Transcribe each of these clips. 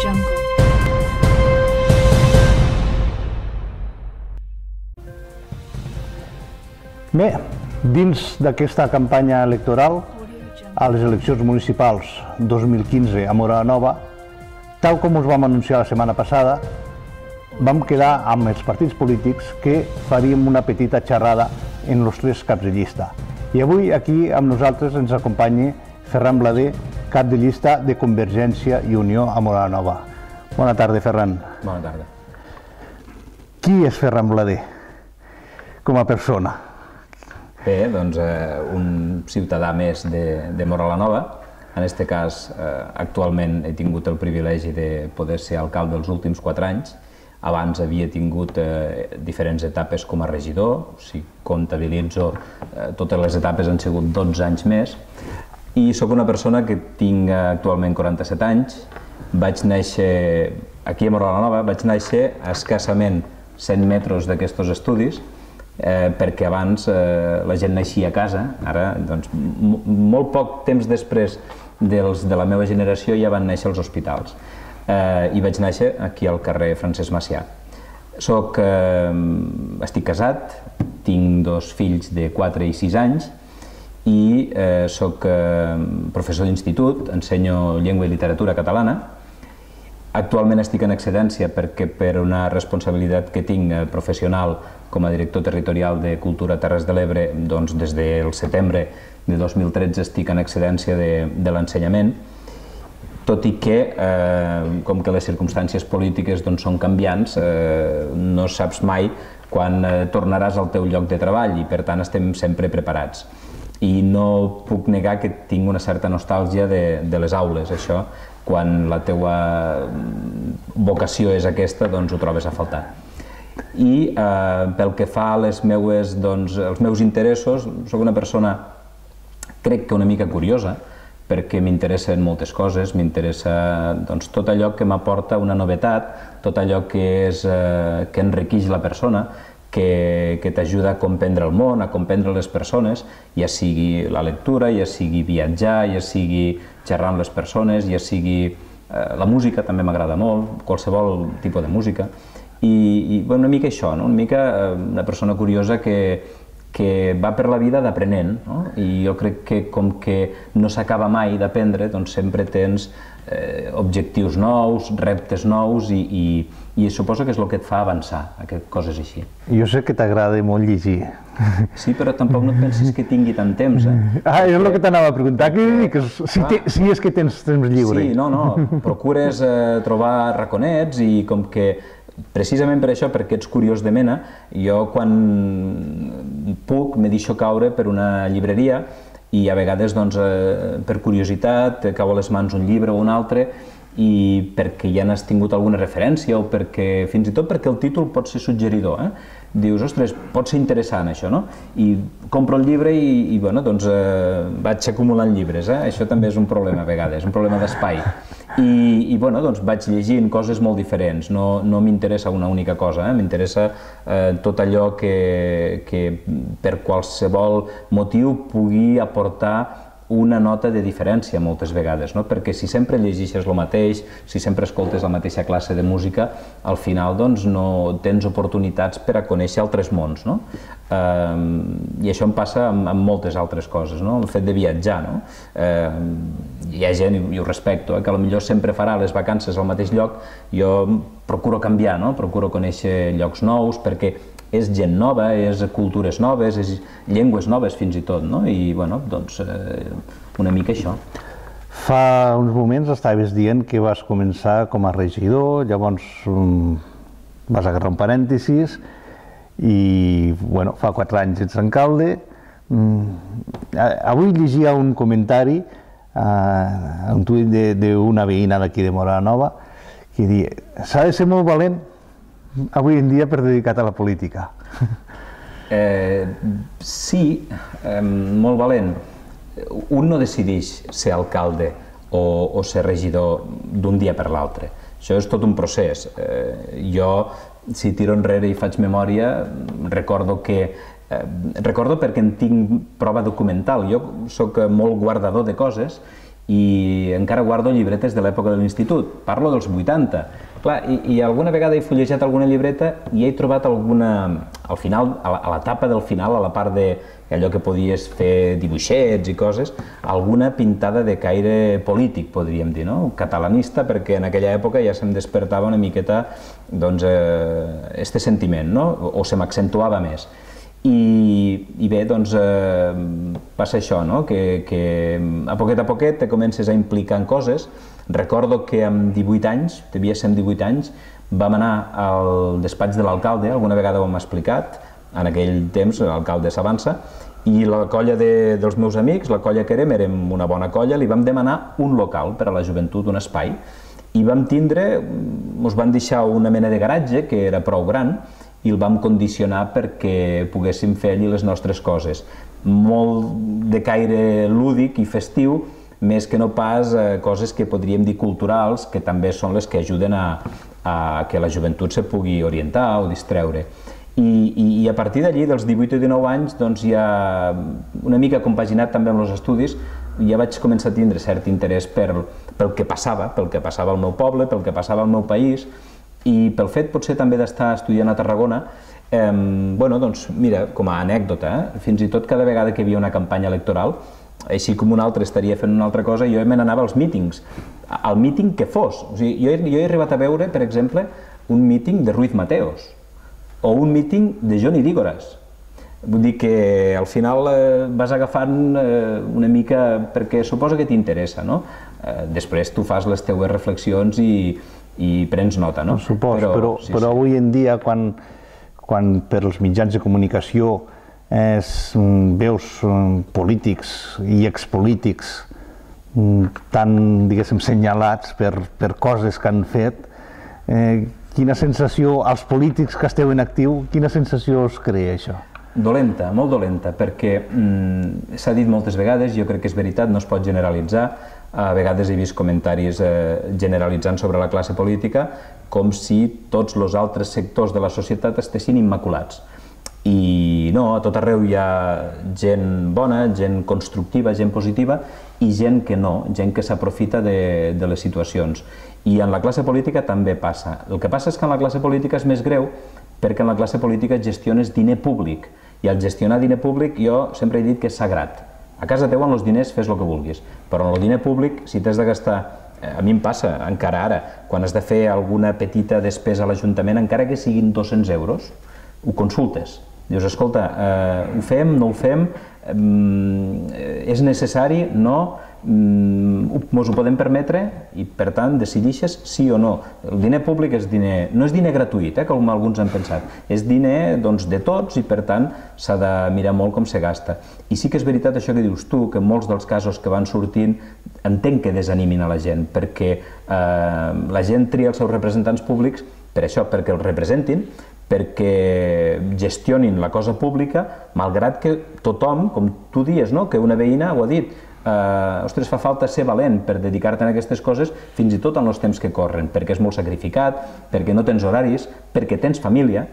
Jungle. Bé, dins d'aquesta campanya electoral, a les eleccions municipals 2015 a Móra la Nova, tal com us vam anunciar la setmana passada, vam quedar amb els partits polítics que faríem una petita xerrada en els tres caps de llista. I avui aquí amb nosaltres ens acompanya Ferran Blader, cap de llista de Convergència i Unió a Móra la Nova. Bona tarda, Ferran. Bona tarda. Qui és Ferran Blader com a persona? Bé, doncs un ciutadà més de Móra la Nova. En aquest cas, actualment he tingut el privilegi de poder ser alcalde els últims 4 anys. Abans havia tingut diferents etapes com a regidor, si comptabilitzo totes les etapes han sigut 12 anys més. I sóc una persona que tinc actualment 47 anys. Vaig néixer aquí a Móra la Nova, vaig néixer a escassament 100 metres d'aquests estudis, perquè abans la gent naixia a casa. Ara, doncs, molt poc temps després dels de la meva generació ja van néixer els hospitals. I vaig néixer aquí al carrer Francesc Macià. Estic casat, tinc 2 fills de 4 i 6 anys i soc professor d'institut, ensenyo llengua i literatura catalana. Actualment estic en excedència perquè per una responsabilitat que tinc professional com a director territorial de Cultura Terres de l'Ebre, doncs des del setembre de 2013 estic en excedència de l'ensenyament, tot i que, com que les circumstàncies polítiques són canviants, no saps mai quan tornaràs al teu lloc de treball i per tant estem sempre preparats. I no puc negar que tinc una certa nostàlgia de les aules, això, quan la teua vocació és aquesta, doncs ho trobes a faltar. I pel que fa als meus interessos, soc una persona, crec que una mica curiosa, perquè m'interessen moltes coses, m'interessa tot allò que m'aporta una novetat, tot allò que enriqueix la persona, que t'ajuda a comprendre el món, a comprendre les persones, ja sigui la lectura, ja sigui viatjar, ja sigui xerrar amb les persones, ja sigui la música, també m'agrada molt, qualsevol tipus de música. I una mica això, una mica una persona curiosa que va per la vida d'aprenent, i jo crec que com que no s'acaba mai d'aprendre, doncs sempre tens objectius nous, reptes nous i suposo que és el que et fa avançar, coses així. Jo sé que t'agrada molt llegir. Sí, però tampoc no et pensis que tingui tant temps. És el que t'anava a preguntar, si és que tens temps lliure. Sí, no, procures trobar raconets i com que precisament per això, perquè ets curiós de mena, jo quan puc me deixo caure per una llibreria i a vegades per curiositat cau a les mans un llibre o un altre i perquè ja n'has tingut alguna referència o perquè, fins i tot perquè el títol pot ser suggeridor. Dius, ostres, pot ser interessant això, no? I compro el llibre i vaig acumulant llibres. Això també és un problema a vegades, un problema d'espai. I vaig llegint coses molt diferents, no m'interessa una única cosa, m'interessa tot allò que per qualsevol motiu pugui aportar una nota de diferència moltes vegades, perquè si sempre llegeixes el mateix, si sempre escoltes la mateixa classe de música, al final no tens oportunitats per a conèixer altres mons. I això em passa amb moltes altres coses, el fet de viatjar. Hi ha gent, i ho respecto, que potser sempre farà les vacances al mateix lloc, jo procuro canviar, procuro conèixer llocs nous, perquè és gent nova, és cultures noves, és llengües noves fins i tot, i una mica això. Fa uns moments estaves dient que vas començar com a regidor, llavors vas agarrar un parèntesis i fa 4 anys ets alcalde. Avui llegia un comentari, un tuit d'una veïna d'aquí de Móra la Nova que diu: s'ha de ser molt valent avui en dia per dedicat a la política. Sí, molt valent. Un no decideix ser alcalde o ser regidor d'un dia per l'altre. Això és tot un procés. Jo, si tiro enrere i faig memòria, recordo perquè en tinc prova documental. Jo soc molt guardador de coses i encara guardo llibretes de l'època de l'institut, parlo dels 80. Clar, i alguna vegada he fullejat alguna llibreta i he trobat alguna, al final, a l'etapa del final, a la part d'allò que podies fer dibuixets i coses, alguna pintada de caire polític, podríem dir, no? Catalanista, perquè en aquella època ja se'm despertava una miqueta, doncs, este sentiment, no? O se m'accentuava més. I bé, doncs, passa això, no? Que a poquet te comences a implicar en coses. Recordo que amb 18 anys, devia ser amb 18 anys, vam anar al despatx de l'alcalde, alguna vegada ho hem explicat, en aquell temps l'alcalde s'avança, i la colla dels meus amics, la colla que érem una bona colla, li vam demanar un local per a la joventut, un espai, i vam tindre, ens van deixar una mena de garatge que era prou gran, i el vam condicionar perquè poguéssim fer allí les nostres coses. Molt de caire lúdic i festiu, més que no pas coses que podríem dir culturals, que també són les que ajuden a que la joventut se pugui orientar o distreure. I a partir d'allí, dels 18 o 19 anys, doncs ja una mica compaginat també amb els estudis, ja vaig començar a tindre cert interès pel que passava al meu poble, pel que passava al meu país, i pel fet potser també d'estar estudiant a Tarragona, bueno, doncs mira, com a anècdota, fins i tot cada vegada que hi havia una campanya electoral, així com un altre estaria fent una altra cosa, jo me n'anava als mítings, al míting que fos. O sigui, jo he arribat a veure, per exemple, un míting de Ruiz Mateos, o un míting de Johnny Dígoras. Vull dir que al final vas agafant una mica perquè suposa que t'interessa, no? Després tu fas les teues reflexions i prens nota, no? Suposo, però avui en dia, quan per als mitjans de comunicació veus polítics i expolítics tan, diguéssim, senyalats per coses que han fet, quina sensació, als polítics que esteu en actiu, quina sensació us crea això? Dolenta, molt dolenta, perquè s'ha dit moltes vegades, jo crec que és veritat, no es pot generalitzar. A vegades he vist comentaris generalitzant sobre la classe política com si tots els altres sectors de la societat estessin immaculats. I no, a tot arreu hi ha gent bona, gent constructiva, gent positiva, i gent que no, gent que s'aprofita de les situacions. I en la classe política també passa. El que passa és que en la classe política és més greu perquè en la classe política gestiones diner públic, i al gestionar diner públic jo sempre he dit que és sagrat. A casa teva, amb els diners, fes el que vulguis, però en el diner públic, si t'has de gastar, a mi em passa, encara ara, quan has de fer alguna petita despesa a l'Ajuntament, encara que siguin 200 euros, ho consultes. Dius, escolta, ho fem, no ho fem, és necessari, no, ens ho podem permetre, i per tant decidixes sí o no. El diner públic és diner, no és diner gratuït, com alguns han pensat, és diner de tots i per tant s'ha de mirar molt com se gasta. I sí que és veritat això que dius tu, que en molts dels casos que van sortint entenc que desanimin a la gent, perquè la gent tria els seus representants públics per això, perquè els representin, perquè gestionin la cosa pública, malgrat que tothom, com tu dius, que una veïna ho ha dit, ostres, fa falta ser valent per dedicar-te a aquestes coses, fins i tot en els temps que corren, perquè és molt sacrificat, perquè no tens horaris, perquè tens família,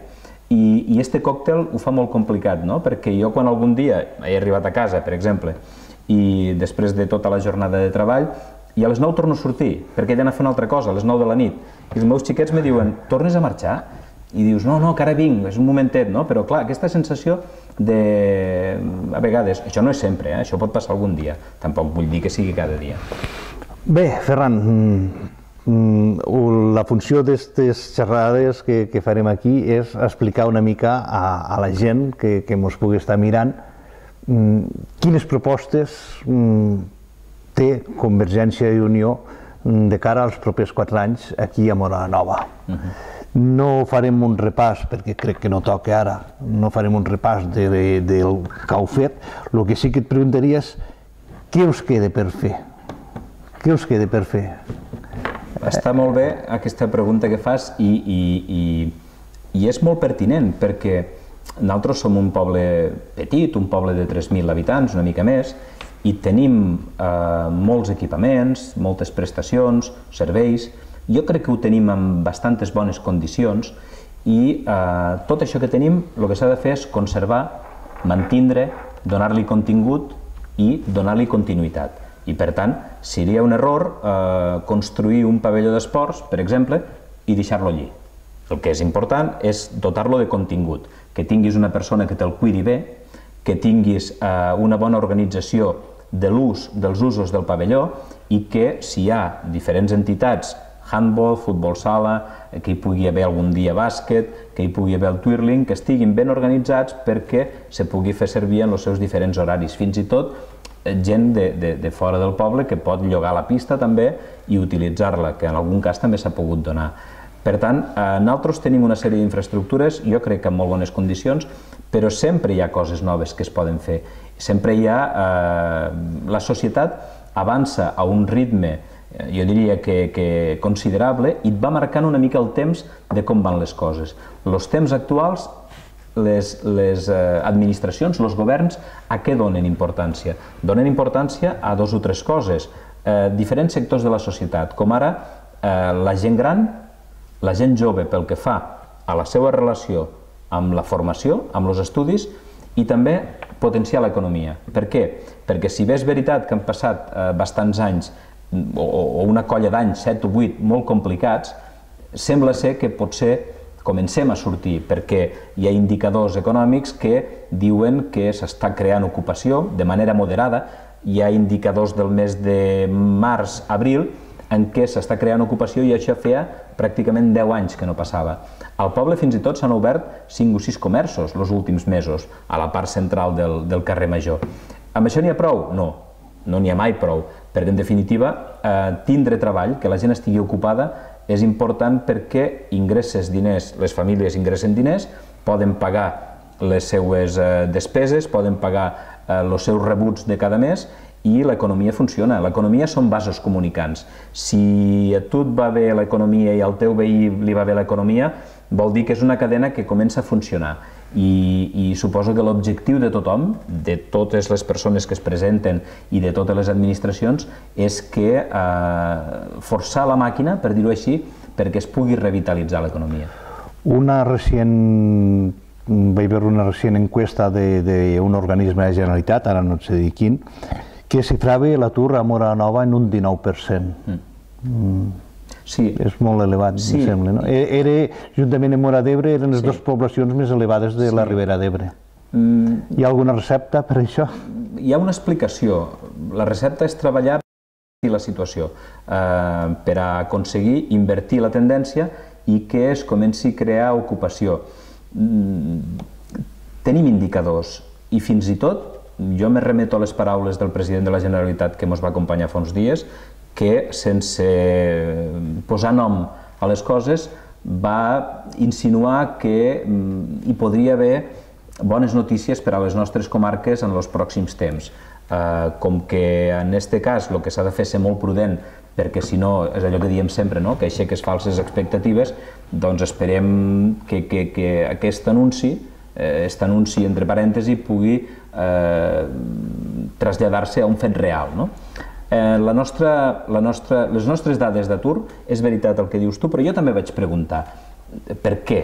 i este còctel ho fa molt complicat, perquè jo quan algun dia he arribat a casa, per exemple, i després de tota la jornada de treball, i a les 9 torno a sortir, perquè he d'anar a fer una altra cosa, a les 9 de la nit, i els meus xiquets me diuen, tornes a marxar? I dius, no, que ara vinc, és un momentet, no? Però clar, aquesta sensació de... a vegades, això no és sempre, això pot passar algun dia, tampoc vull dir que sigui cada dia. Bé, Ferran, la funció d'aquestes xerrades que farem aquí és explicar una mica a la gent que ens pugui estar mirant quines propostes té Convergència i Unió de cara als propers 4 anys aquí a Móra la Nova. No farem un repàs, perquè crec que no toca ara, no farem un repàs del que heu fet. El que sí que et preguntaria és què us queda per fer? Què us queda per fer? Està molt bé aquesta pregunta que fas i és molt pertinent, perquè nosaltres som un poble petit, un poble de 3.000 habitants, una mica més, i tenim molts equipaments, moltes prestacions, serveis. Jo crec que ho tenim en bastantes bones condicions i tot això que tenim el que s'ha de fer és conservar, mantindre, donar-li contingut i donar-li continuïtat. I, per tant, seria un error construir un pavelló d'esports, per exemple, i deixar-lo allí. El que és important és dotar-lo de contingut, que tinguis una persona que te'l cuidi bé, que tinguis una bona organització de l'ús dels usos del pavelló i que si hi ha diferents entitats, handball, futbol sala, que hi pugui haver algun dia bàsquet, que hi pugui haver el twirling, que estiguin ben organitzats perquè se pugui fer servir en els seus diferents horaris. Fins i tot gent de fora del poble que pot llogar la pista també i utilitzar-la, que en algun cas també s'ha pogut donar. Per tant, nosaltres tenim una sèrie d'infraestructures, jo crec que en molt bones condicions, però sempre hi ha coses noves que es poden fer. Sempre hi ha... La societat avança a un ritme, jo diria que considerable, i et va marcant una mica el temps de com van les coses. Els temps actuals, les administracions, els governs, a què donen importància? Donen importància a dos o tres coses. Diferents sectors de la societat, com ara la gent gran, la gent jove pel que fa a la seva relació amb la formació, amb els estudis, i també potenciar l'economia. Per què? Perquè si bé és veritat que han passat bastants anys o una colla d'anys, 7 o 8, molt complicats, sembla ser que potser comencem a sortir, perquè hi ha indicadors econòmics que diuen que s'està creant ocupació de manera moderada. Hi ha indicadors del mes de març-abril en què s'està creant ocupació i això feia pràcticament 10 anys que no passava. Al poble fins i tot s'han obert 5 o 6 comerços els últims mesos, a la part central del carrer Major. Amb això n'hi ha prou? No, no n'hi ha mai prou, perquè en definitiva tindre treball, que la gent estigui ocupada, és important perquè ingresses diners, les famílies ingressen diners, poden pagar les seues despeses, poden pagar els seus rebuts de cada mes i l'economia funciona. L'economia són vasos comunicants. Si a tu et va bé l'economia i al teu veí li va bé l'economia, vol dir que és una cadena que comença a funcionar. I suposo que l'objectiu de tothom, de totes les persones que es presenten i de totes les administracions, és que forçar la màquina, per dir-ho així, perquè es pugui revitalitzar l'economia. Vaig veure una recent encuesta d'un organisme de la Generalitat, ara no et sé dir quin, que xifrava l'atur a Móra la Nova en un 19%. Sí. És molt elevat, em sembla. Juntament amb Móra d'Ebre, eren les dues poblacions més elevades de la Ribera d'Ebre. Hi ha alguna recepta per això? Hi ha una explicació. La recepta és treballar per la situació, per aconseguir invertir la tendència i que es comenci a crear ocupació. Tenim indicadors i fins i tot jo me remeto a les paraules del president de la Generalitat que ens va acompanyar fa uns dies, que sense posar nom a les coses va insinuar que hi podria haver bones notícies per a les nostres comarques en els pròxims temps. Com que en aquest cas el que s'ha de fer és ser molt prudent, perquè si no, és allò que diem sempre, que aixeques falses expectatives, doncs esperem que aquest anunci entre parèntesi, pugui traslladar-se a un fet real. Les nostres dades d'atur, és veritat el que dius tu, però jo també vaig preguntar per què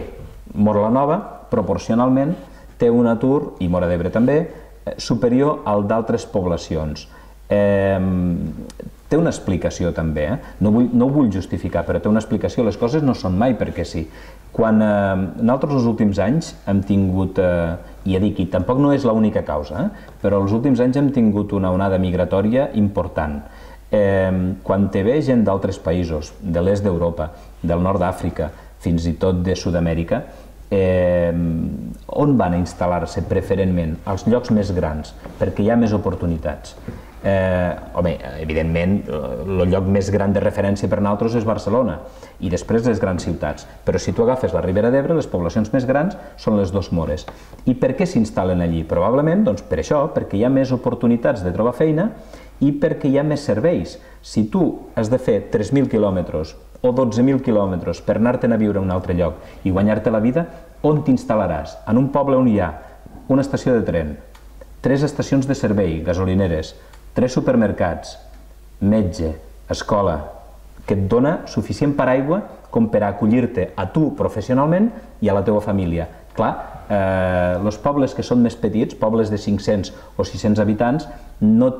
Móra la Nova, proporcionalment, té un atur, i Móra d'Ebre també, superior al d'altres poblacions. Té una explicació també, no ho vull justificar, però té una explicació, les coses no són mai perquè sí. Quan nosaltres els últims anys hem tingut, i ja dic, i tampoc no és l'única causa, però els últims anys hem tingut una onada migratòria important. Quan te ve gent d'altres països, de l'est d'Europa, del nord d'Àfrica, fins i tot de Sud-amèrica, on van a instal·lar-se preferentment? Als llocs més grans, perquè hi ha més oportunitats. Home, evidentment, el lloc més gran de referència per nosaltres és Barcelona i després les grans ciutats, però si tu agafes la Ribera d'Ebre, les poblacions més grans són les dos Mores. I per què s'instal·len allí? Probablement per això, perquè hi ha més oportunitats de trobar feina i perquè hi ha més serveis. Si tu has de fer 3.000 quilòmetres o 12.000 quilòmetres per anar-te'n a viure a un altre lloc i guanyar-te la vida, on t'instal·laràs? En un poble on hi ha una estació de tren, 3 estacions de servei, gasolineres, 3 supermercats, metge, escola, que et dona suficient paraigua com per a acollir-te a tu professionalment i a la teva família. Clar, els pobles que són més petits, pobles de 500 o 600 habitants, no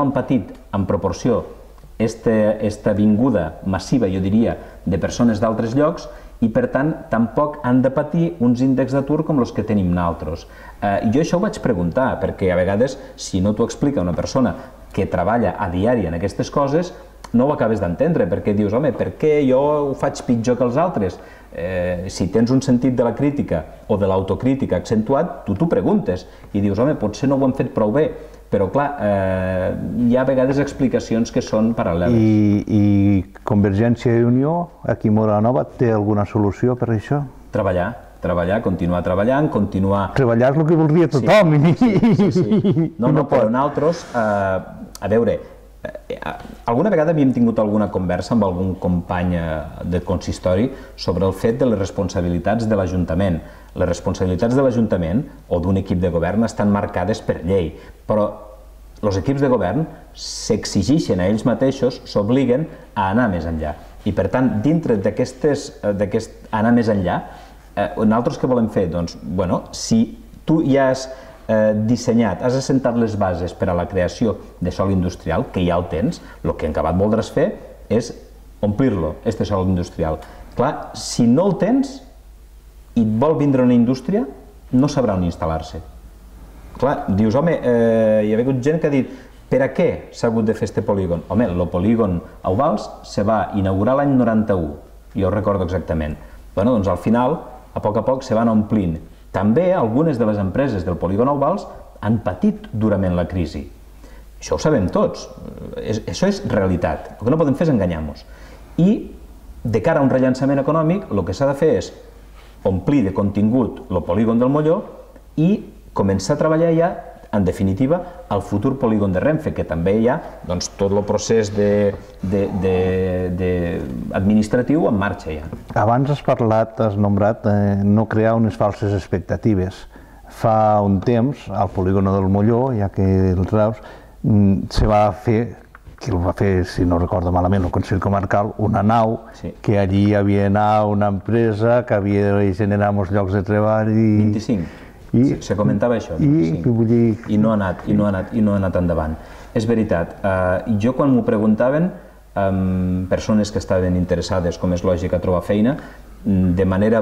han patit en proporció esta vinguda massiva, jo diria, de persones d'altres llocs, i per tant tampoc han de patir uns índexs d'atur com els que tenim nosaltres. Jo això ho vaig preguntar, perquè a vegades, si no t'ho explica una persona que treballa a diari en aquestes coses, no ho acabes d'entendre, perquè dius, home, per què jo ho faig pitjor que els altres? Si tens un sentit de la crítica o de l'autocrítica accentuat, tu t'ho preguntes i dius, home, potser no ho hem fet prou bé, però clar, hi ha a vegades explicacions que són paral·leles. I Convergència i Unió, aquí a Móra la Nova, té alguna solució per això? Treballar, continuar treballant, continuar... Treballar és el que voldria tothom. Sí. No, però nosaltres, a veure, alguna vegada havíem tingut alguna conversa amb algun company de consistori sobre el fet de les responsabilitats de l'Ajuntament. Les responsabilitats de l'Ajuntament o d'un equip de govern estan marcades per llei, però els equips de govern s'exigeixen a ells mateixos, s'obliguen a anar més enllà. I per tant, dintre d'aquest anar més enllà, nosaltres què volem fer? Doncs, bueno, si tu ja has dissenyat, has assentat les bases per a la creació de sòl industrial, que ja el tens, el que en acabat voldràs fer és omplir-lo, este sòl industrial. Clar, si no el tens i et vol vindre una indústria, no sabrà on instal·lar-se. Clar, dius, home, hi ha hagut gent que ha dit, per a què s'ha hagut de fer este polígon? Home, el polígon Euvals se va inaugurar l'any 91, jo ho recordo exactament. Bueno, doncs al final, a poc se van omplint. També algunes de les empreses del polígon Euvals han patit durament la crisi. Això ho sabem tots, això és realitat. El que no podem fer és enganyar-nos. I, de cara a un rellançament econòmic, el que s'ha de fer és omplir de contingut el polígon del Molló i començar a treballar ja, en definitiva, al futur polígon de Renfe, que també hi ha tot el procés administratiu en marxa ja. Abans has parlat, has nombrat, no crear unes falses expectatives. Fa un temps, al polígon del Molló, ja que el traus, se va fer, que el va fer, si no recordo malament, el Consell Comarcal, una nau, que allí hi havia una empresa que havia de generar molts llocs de treball i... 25. Se comentava això, i no ha anat endavant. És veritat, jo quan m'ho preguntaven, persones que estaven interessades, com és lògic, a trobar feina, de manera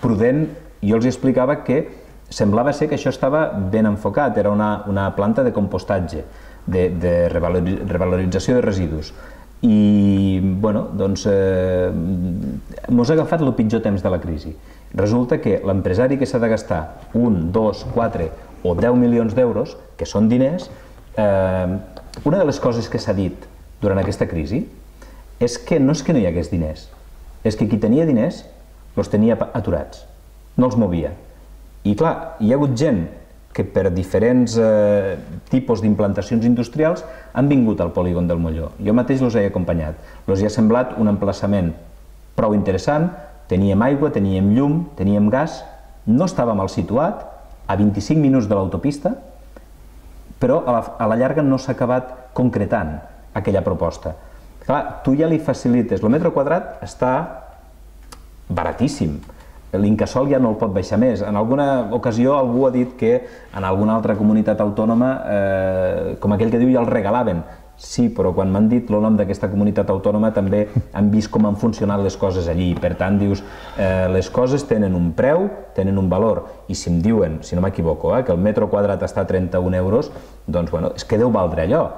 prudent, jo els explicava que semblava ser que això estava ben enfocat, era una planta de compostatge, de revalorització de residus. I, bueno, doncs, mos ha agafat el pitjor temps de la crisi. Resulta que l'empresari que s'ha de gastar 1, 2, 4 o 10 milions d'euros, que són diners, una de les coses que s'ha dit durant aquesta crisi és que no hi hagués diners, és que qui tenia diners els tenia aturats, no els movia. I clar, hi ha hagut gent que per diferents tipus d'implantacions industrials han vingut al polígon del Molló. Jo mateix els he acompanyat. Els ha semblat un emplaçament prou interessant, teníem aigua, teníem llum, teníem gas, no estava mal situat, a 25 minuts de l'autopista, però a la llarga no s'ha acabat concretant aquella proposta. Clar, tu ja li facilites, el metre quadrat està baratíssim, l'incasòl ja no el pot baixar més. En alguna ocasió algú ha dit que en alguna altra comunitat autònoma, com aquell que diu, ja el regalaven. Sí, però quan m'han dit el nom d'aquesta comunitat autònoma també han vist com han funcionat les coses allí. Per tant, dius, les coses tenen un preu, tenen un valor. I si em diuen, si no m'equivoco, que el metre quadrat està a 31 euros, doncs, bueno, és que deu valdre allò.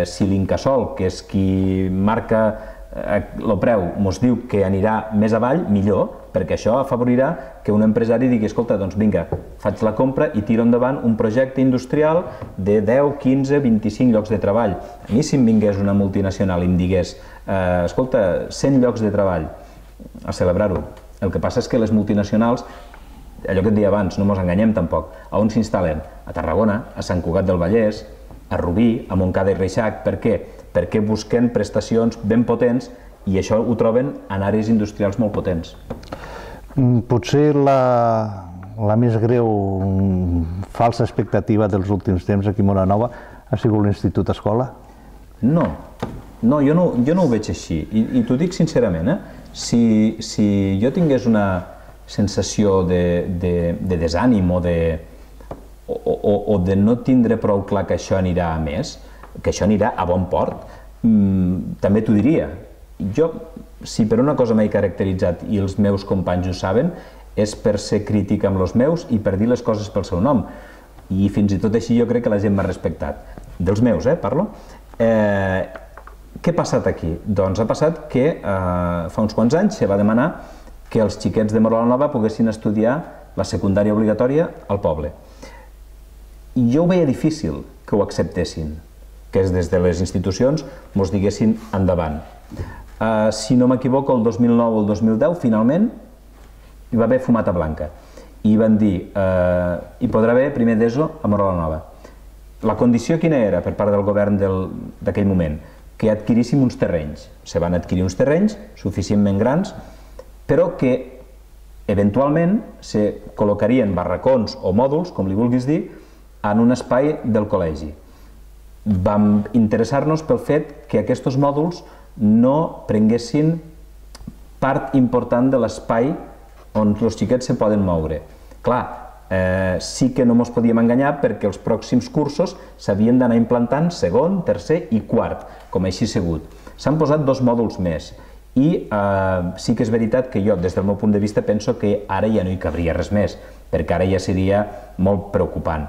Si l'Incasòl, que és qui marca el preu, mos diu que anirà més avall, millor, perquè això afavorirà que un empresari digui, escolta, doncs vinga, faig la compra i tiro endavant un projecte industrial de 10, 15, 25 llocs de treball. A mi si em vingués una multinacional i em digués, escolta, 100 llocs de treball, a celebrar-ho. El que passa és que les multinacionals, allò que et deia abans, no ens enganyem tampoc, on s'instal·len? A Tarragona, a Sant Cugat del Vallès, a Rubí, a Montcada i Reixac. Per què? Perquè busquen prestacions ben potents i això ho troben en àrees industrials molt potents. Potser la més greu falsa expectativa dels últims temps aquí a Móra la Nova ha sigut l'Institut Escola? No, jo no ho veig així i t'ho dic sincerament. Si jo tingués una sensació de desànim o de no tindre prou clar que això anirà a més, que això anirà a bon port, també t'ho diria. Jo, si per una cosa m'he caracteritzat, i els meus companys ho saben, és per ser crític amb els meus i per dir les coses pel seu nom. I fins i tot així jo crec que la gent m'ha respectat. Dels meus, parlo. Què ha passat aquí? Doncs ha passat que fa uns quants anys se va demanar que els xiquets de Morola Nova poguessin estudiar la secundària obligatòria al poble. I jo ho veia difícil que ho acceptessin, que des de les institucions ens diguessin endavant. Si no m'equivoco, el 2009 o el 2010, finalment, hi va haver fumata blanca. I van dir, hi podrà haver primer d'ESO a Morola Nova. La condició quina era per part del govern d'aquell moment? Que adquiríssim uns terrenys. Se van adquirir uns terrenys suficientment grans, però que eventualment se col·locarien barracons o mòduls, com li vulguis dir, en un espai del col·legi. Vam interessar-nos pel fet que aquests mòduls no prenguessin part important de l'espai on els xiquets se poden moure. Clar, sí que no ens podíem enganyar perquè els pròxims cursos s'havien d'anar implantant segon, tercer i quart, com així ha sigut. S'han posat 2 mòduls més i sí que és veritat que jo, des del meu punt de vista, penso que ara ja no hi cabria res més, perquè ara ja seria molt preocupant.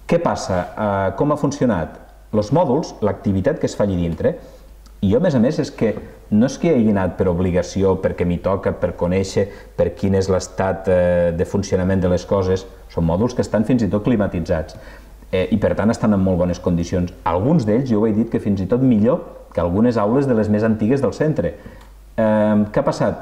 Què passa? Com ha funcionat? Els mòduls, l'activitat que es fa allà dintre, i jo, a més, és que no és que hi hagi anat per obligació, perquè m'hi toca, per conèixer per quin és l'estat de funcionament de les coses, són mòduls que estan fins i tot climatitzats i per tant estan en molt bones condicions. Alguns d'ells, jo ho he dit, que fins i tot millor que algunes aules de les més antigues del centre. Què ha passat?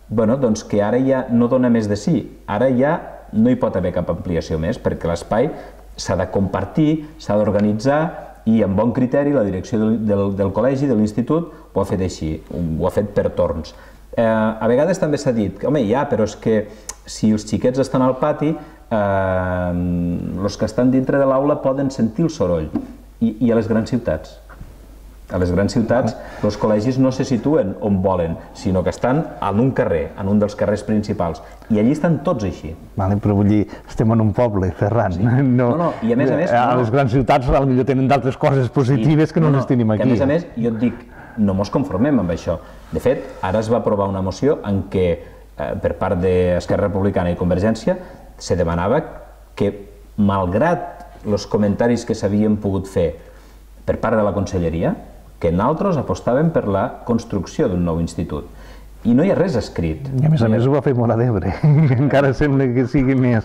Bé, doncs que ara ja no dona més de sí, ara ja no hi pot haver cap ampliació més, perquè l'espai s'ha de compartir, s'ha d'organitzar, i amb bon criteri la direcció del col·legi, de l'institut, ho ha fet així, ho ha fet per torns. A vegades també s'ha dit, home, ja, però és que si els xiquets estan al pati, els que estan dintre de l'aula poden sentir el soroll. I a les grans ciutats? A les grans ciutats els col·legis no se situen on volen, sinó que estan en un carrer, en un dels carrers principals, i allí estan tots així. Però vull dir, estem en un poble, Ferran. No, i a més... A les grans ciutats potser tenen d'altres coses positives que no les tenim aquí. A més, jo et dic, no ens conformem amb això. De fet, ara es va aprovar una moció en què, per part d'Esquerra Republicana i Convergència, se demanava que, malgrat els comentaris que s'havien pogut fer per part de la Conselleria, que nosaltres apostàvem per la construcció d'un nou institut. I no hi ha res escrit. I a més ho va fer Móra d'Ebre, encara sembla que sigui més.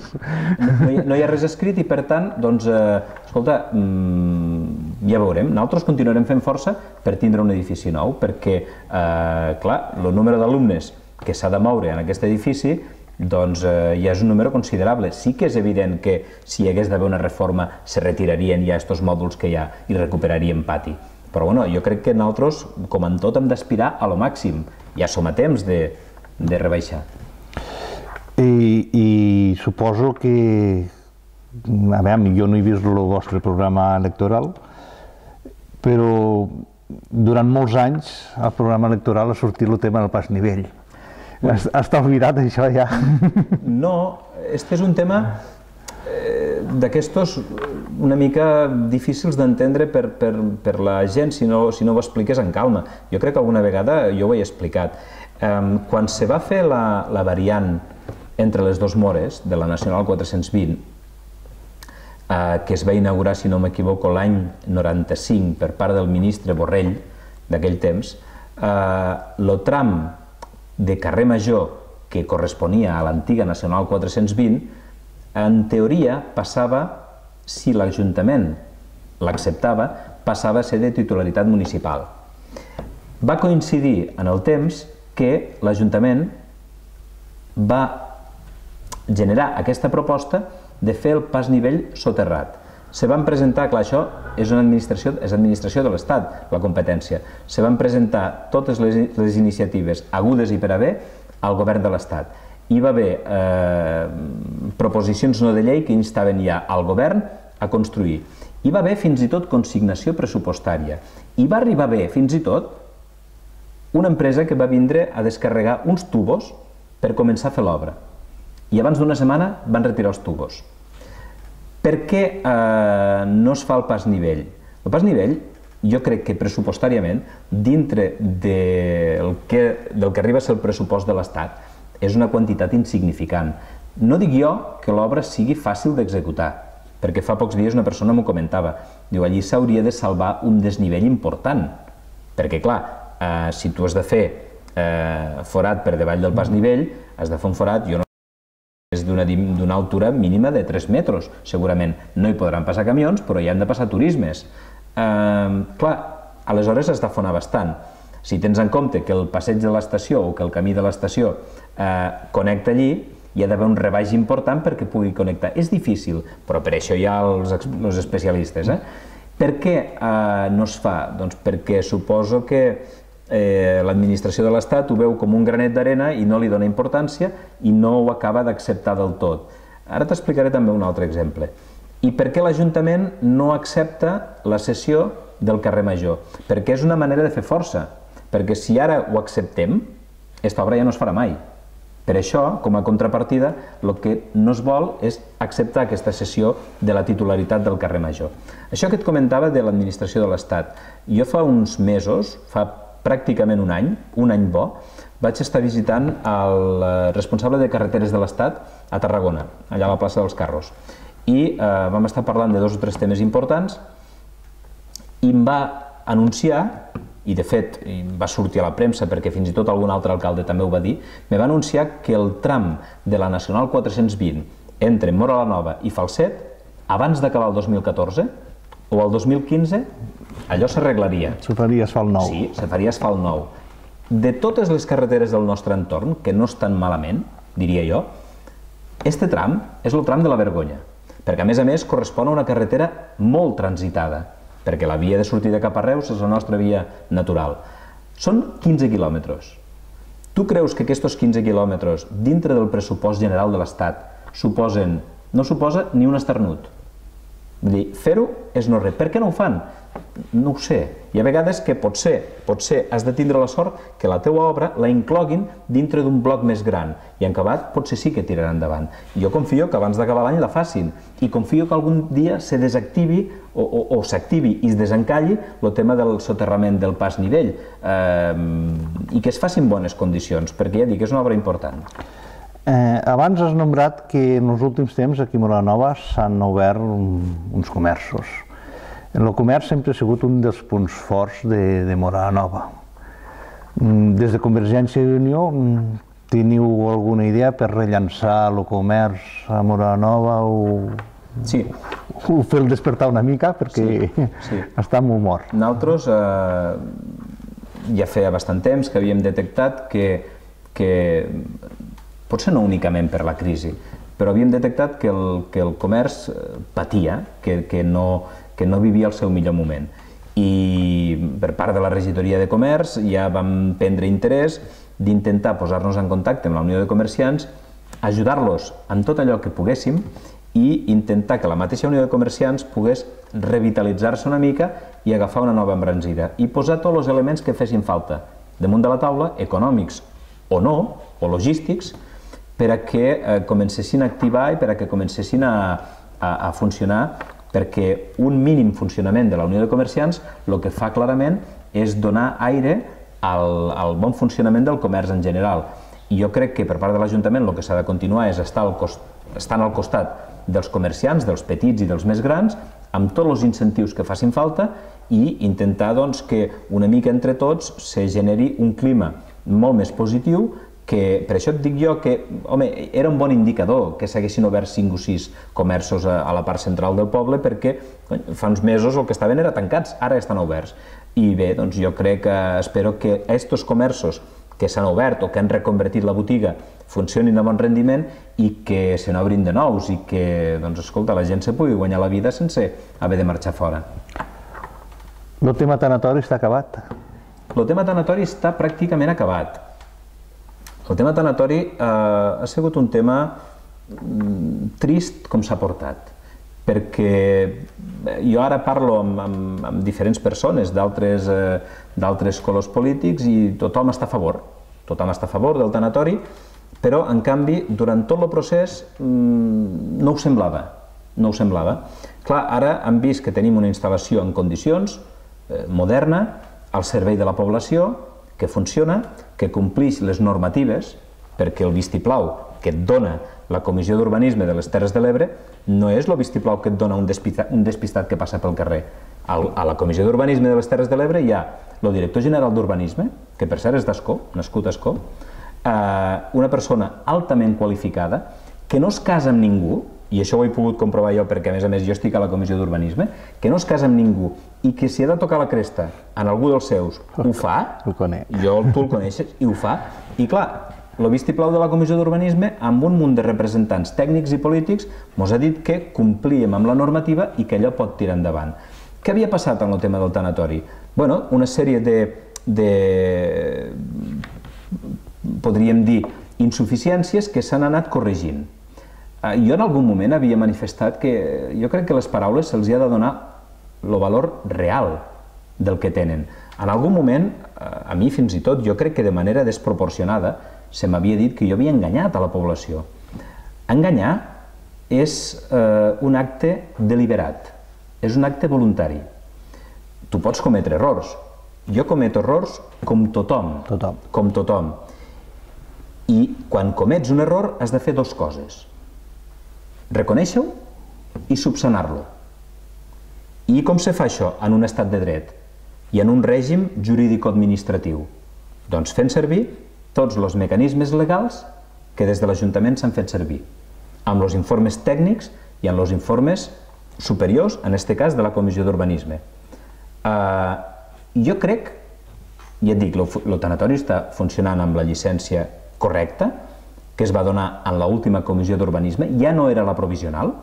No hi ha res escrit i per tant, doncs, escolta, ja veurem. Nosaltres continuarem fent força per tindre un edifici nou, perquè, clar, el número d'alumnes que s'ha de moure en aquest edifici doncs ja és un número considerable. Sí que és evident que si hi hagués d'haver una reforma se retirarien ja aquests mòduls que hi ha i recuperaríem pati. Però bueno, jo crec que nosaltres, com en tot, hem d'aspirar a lo màxim. Ja som a temps de rebaixar. I suposo que... A veure, jo no he vist el vostre programa electoral, però durant molts anys al programa electoral ha sortit el tema del pas nivell. Està oblidat això ja? No, este és un tema d'aquestos una mica difícils d'entendre per la gent si no ho expliqués en calma. Jo crec que alguna vegada jo ho he explicat. Quan se va fer la variant entre les dues mores de la Nacional 420, que es va inaugurar, si no m'equivoco, l'any 95 per part del ministre Borrell d'aquell temps, el tram de carrer Major que corresponia a l'antiga Nacional 420, en teoria passava, si l'Ajuntament l'acceptava, passava a ser de titularitat municipal. Va coincidir en el temps que l'Ajuntament va generar aquesta proposta de fer el pas nivell soterrat. Se van presentar, clar, això és administració de l'Estat, la competència. Se van presentar totes les iniciatives agudes i per haver al govern de l'Estat. Hi va haver proposicions no de llei que instaven ja al govern a construir. Hi va haver fins i tot consignació pressupostària. Hi va arribar a haver fins i tot una empresa que va vindre a descarregar uns tubos per començar a fer l'obra. i abans d'una setmana van retirar els tubos. Per què no es fa el pas nivell? El pas nivell, jo crec que pressupostàriament, dintre del que arriba a ser el pressupost de l'Estat, és una quantitat insignificant. No dic jo que l'obra sigui fàcil d'executar, perquè fa pocs dies una persona m'ho comentava. Diu, allí s'hauria de salvar un desnivell important, perquè clar, si tu has de fer forat per davall del pas nivell, has de fer un forat, jo no és d'una altura mínima de 3 metres, segurament. No hi podran passar camions, però hi han de passar turismes. Clar, aleshores has d'afonar bastant. Si tens en compte que el passeig de l'estació o que el camí de l'estació connecta allí, hi ha d'haver un rebaix important perquè pugui connectar. És difícil, però per això hi ha els especialistes. Per què no es fa? Doncs perquè suposo que l'administració de l'Estat ho veu com un granet d'arena i no li dona importància i no ho acaba d'acceptar del tot. Ara t'explicaré també un altre exemple. I per què l'Ajuntament no accepta la cessió del carrer Major? Perquè és una manera de fer força. Perquè si ara ho acceptem, aquesta obra ja no es farà mai. Per això, com a contrapartida, el que no es vol és acceptar aquesta cessió de la titularitat del carrer Major. Això que et comentava de l'administració de l'Estat. Jo fa uns mesos, fa pràcticament un any bo, vaig estar visitant el responsable de carreteres de l'Estat a Tarragona, allà a la plaça dels Carros. I vam estar parlant de 2 o 3 temes importants i em va anunciar, i de fet va sortir a la premsa perquè fins i tot algun altre alcalde també ho va dir, me va anunciar que el tram de la Nacional 420 entre Móra la Nova i Falset, abans d'acabar el 2014 o el 2015, allò s'arreglaria. Se faria asfalt nou. Sí, se faria asfalt nou. De totes les carreteres del nostre entorn, que no estan malament, diria jo, este tram és el tram de la vergonya, perquè a més correspon a una carretera molt transitada, perquè la via de sortida cap a Reus és la nostra via natural. Són 15 quilòmetres. Tu creus que aquests 15 quilòmetres, dintre del pressupost general de l'Estat, no suposa ni un esternut? Vull dir, fer-ho és no res. Per què no ho fan? No ho sé. Hi ha vegades que potser has de tindre la sort que la teua obra la incloguin dintre d'un bloc més gran i en acabat potser sí que tiraran endavant. Jo confio que abans d'acabar l'any la facin i confio que algun dia se desactivi o s'activi i es desencalli el tema del soterrament del pas nivell i que es facin bones condicions, perquè ja dic, és una obra important. Abans has nombrat que en els últims temps aquí a Móra la Nova s'han obert uns comerços. El comerç sempre ha sigut un dels punts forts de Móra la Nova. Des de Convergència i Unió, teniu alguna idea per rellançar el comerç a Móra la Nova o fer el despertar una mica perquè està molt mort? Nosaltres ja feia bastant temps que havíem detectat que potser no únicament per la crisi, però havíem detectat que el comerç patia, que no vivia el seu millor moment. I per part de la regidoria de comerç ja vam prendre interès d'intentar posar-nos en contacte amb la Unió de Comerciants, ajudar-los en tot allò que poguéssim i intentar que la mateixa Unió de Comerciants pogués revitalitzar-se una mica i agafar una nova embranzida i posar tots els elements que fessin falta damunt de la taula, econòmics o no, o logístics, per a que comencessin a activar i per a que comencessin a funcionar, perquè un mínim funcionament de la Unió de Comerciants el que fa clarament és donar aire al bon funcionament del comerç en general. I jo crec que per part de l'Ajuntament el que s'ha de continuar és estar al costat dels comerciants, dels petits i dels més grans, amb tots els incentius que facin falta i intentar que una mica entre tots se generi un clima molt més positiu, que per això et dic jo que, home, era un bon indicador que s'haguessin obert 5 o 6 comerços a la part central del poble perquè fa uns mesos el que estaven era tancats, ara estan oberts. I bé, doncs jo crec espero que aquests comerços que s'han obert o que han reconvertit la botiga funcionin a bon rendiment i que se n'obrin de nous i que, doncs, escolta, la gent se pugui guanyar la vida sense haver de marxar fora. El tema tanatori està acabat? El tema tanatori està pràcticament acabat. El tema tanatori ha sigut un tema trist com s'ha portat, perquè jo ara parlo amb diferents persones d'altres colors polítics i tothom està a favor del tanatori però, en canvi, durant tot el procés no ho semblava. No ho semblava. Clar, ara hem vist que tenim una instal·lació en condicions, moderna, al servei de la població, que funciona, que compleix les normatives, perquè el vistiplau que et dona la Comissió d'Urbanisme de les Terres de l'Ebre no és el vistiplau que et dona un despistat que passa pel carrer. A la Comissió d'Urbanisme de les Terres de l'Ebre hi ha el director general d'Urbanisme, que per cert és d'Ascó, nascut a Ascó, una persona altament qualificada, que no es casa amb ningú, i això ho he pogut comprovar jo perquè, a més, jo estic a la Comissió d'Urbanisme, que no es casa amb ningú i que si ha de tocar la cresta en algú dels seus ho fa, tu el coneixes, i ho fa, i clar, el vistiplau de la Comissió d'Urbanisme, amb un munt de representants tècnics i polítics, ens ha dit que complíem amb la normativa i que allò pot tirar endavant. Què havia passat amb el tema del tanatori? Bueno, una sèrie de podríem dir, insuficiències que s'han anat corregint. Jo en algun moment havia manifestat que jo crec que les paraules se'ls ha de donar el valor real del que tenen. En algun moment, a mi fins i tot, jo crec que de manera desproporcionada, se m'havia dit que jo havia enganyat a la població. Enganyar és un acte deliberat, és un acte voluntari. Tu pots cometre errors. Jo cometo errors com tothom. Com tothom. I quan comets un error has de fer dues coses. Reconèixer-ho i subsanar-lo. I com se fa això en un estat de dret i en un règim jurídico-administratiu? Doncs fent servir tots els mecanismes legals que des de l'Ajuntament s'han fet servir, amb els informes tècnics i amb els informes superiors, en aquest cas de la Comissió d'Urbanisme. Jo crec, ja et dic, el tanatori està funcionant amb la llicència correcta, que es va donar en l'última Comissió d'Urbanisme, ja no era la provisional,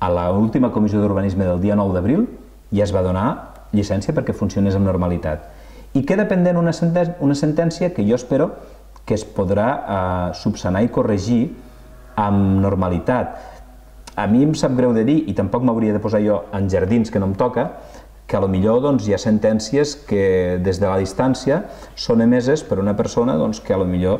a l'última Comissió d'Urbanisme del dia 9 d'abril ja es va donar llicència perquè funcionés amb normalitat. I queda pendent una sentència que jo espero que es podrà subsanar i corregir amb normalitat. A mi em sap greu de dir, i tampoc m'hauria de posar jo en jardins que no em toca, que potser hi ha sentències que des de la distància són emeses per una persona que potser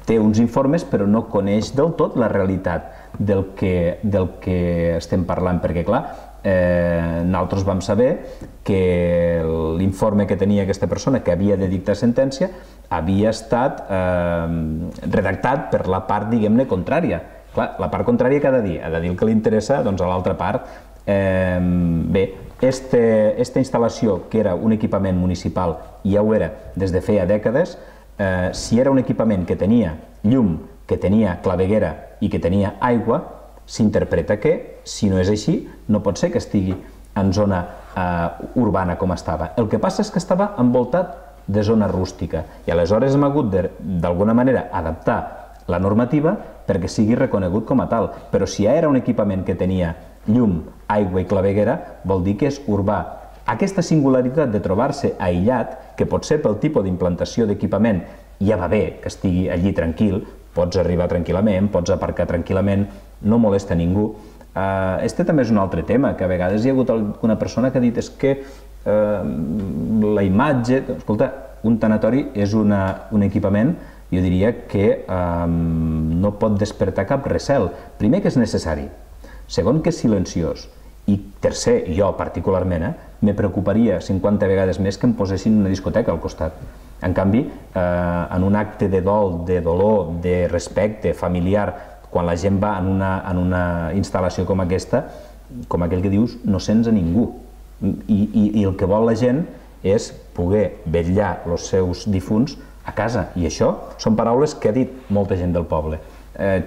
té uns informes però no coneix del tot la realitat del que estem parlant, perquè clar, nosaltres vam saber que l'informe que tenia aquesta persona que havia de dictar sentència havia estat redactat per la part, diguem-ne, contrària. Clar, la part contrària què ha de dir? Ha de dir el que li interessa a l'altra part. Bé, aquesta instal·lació, que era un equipament municipal, ja ho era des de feia dècades, si era un equipament que tenia llum, que tenia claveguera i que tenia aigua, s'interpreta que, si no és així, no pot ser que estigui en zona urbana com estava. El que passa és que estava envoltat de zona rústica i aleshores hem hagut d'alguna manera adaptar la normativa perquè sigui reconegut com a tal. Però si ja era un equipament que tenia llum, aigua i claveguera, vol dir que és urbà. Aquesta singularitat de trobar-se aïllat, que pot ser pel tipus d'implantació d'equipament, ja va bé que estigui allí tranquil, pots arribar tranquil·lament, pots aparcar tranquil·lament, no molesta ningú. Este també és un altre tema, que a vegades hi ha hagut alguna persona que ha dit és que la imatge... Escolta, un tanatori és un equipament, jo diria que no pot despertar cap recel. Primer, que és necessari. Segon, que és silenciós. I tercer, jo particularment, me preocuparia 50 vegades més que em posessin una discoteca al costat. En canvi, en un acte de dol, de dolor, de respecte familiar, quan la gent va en una instal·lació com aquesta, com aquell que dius, no sents a ningú. I el que vol la gent és poder vetllar els seus difunts a casa. I això són paraules que ha dit molta gent del poble,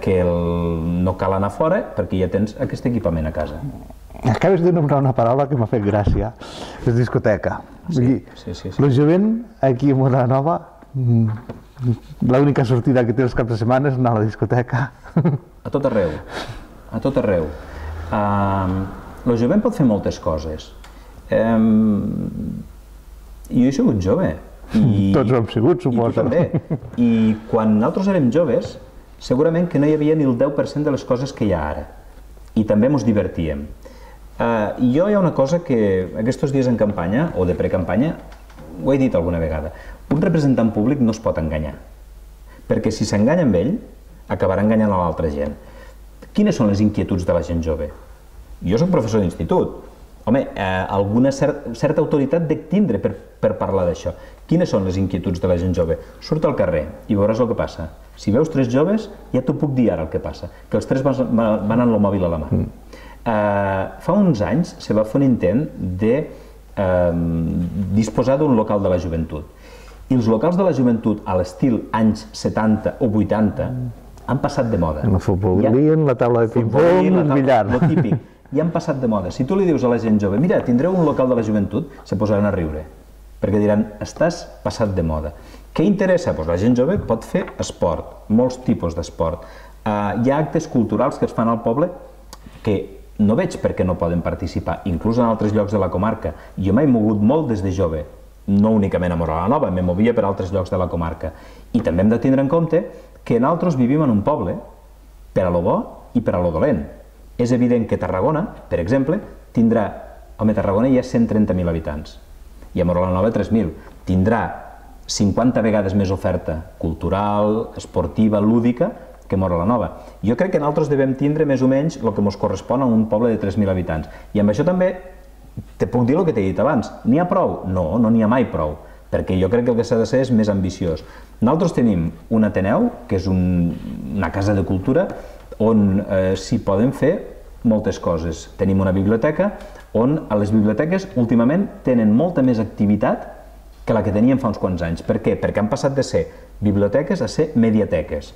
que no cal anar fora perquè ja tens aquest equipament a casa. Acabes de nombrar una paraula que m'ha fet gràcia, és discoteca. El jovent aquí a Móra la Nova, l'única sortida que té els caps de setmana és anar a la discoteca. A tot arreu, a tot arreu. El jovent pot fer moltes coses. Jo he sigut jove. Tots ho hem sigut, suposo. I tu també. I quan nosaltres érem joves, segurament que no hi havia ni el 10% de les coses que hi ha ara. I també ens divertíem. Jo hi ha una cosa que aquests dies en campanya, o de precampanya, ho he dit alguna vegada, un representant públic no es pot enganyar. perquè si s'enganya amb ell, acabarà enganyant a l'altra gent. Quines són les inquietuds de la gent jove? Jo soc professor d'institut. Home, alguna certa autoritat dec tindre per parlar d'això. Quines són les inquietuds de la gent jove? Surt al carrer i veuràs el que passa. Si veus tres joves, ja t'ho puc dir ara el que passa, que els tres van amb el mòbil a la mà. Fa uns anys se va fer un intent de disposar d'un local de la joventut. I els locals de la joventut a l'estil anys 70 o 80 han passat de moda. El futbolien, la taula de ping-pong, el billar. Lo típic. Ja han passat de moda. Si tu li dius a la gent jove, mira, tindreu un local de la joventut, se posaran a riure, perquè diran, estàs passat de moda. Què interessa? Doncs la gent jove pot fer esport, molts tipus d'esport. Hi ha actes culturals que es fan al poble que no veig per què no poden participar, inclús en altres llocs de la comarca. Jo m'he mogut molt des de jove, no únicament a Móra la Nova, me movia per altres llocs de la comarca. I també hem de tindre en compte que nosaltres vivim en un poble per a lo bo i per a lo dolent. És evident que Tarragona, per exemple, tindrà... Home, Tarragona hi ha 130.000 habitants i a Móra la Nova 3.000. Tindrà 50 vegades més oferta cultural, esportiva, lúdica, que Móra la Nova. Jo crec que nosaltres devem tindre més o menys el que ens correspon a un poble de 3.000 habitants. I amb això també te puc dir el que t'he dit abans. N'hi ha prou? No, no n'hi ha mai prou, perquè jo crec que el que s'ha de ser és més ambiciós. Nosaltres tenim un Ateneu, que és una casa de cultura, on s'hi poden fer moltes coses. Tenim una biblioteca on a les biblioteques últimament tenen molta més activitat que la que teníem fa uns quants anys. Per què? Perquè han passat de ser biblioteques a ser mediateques.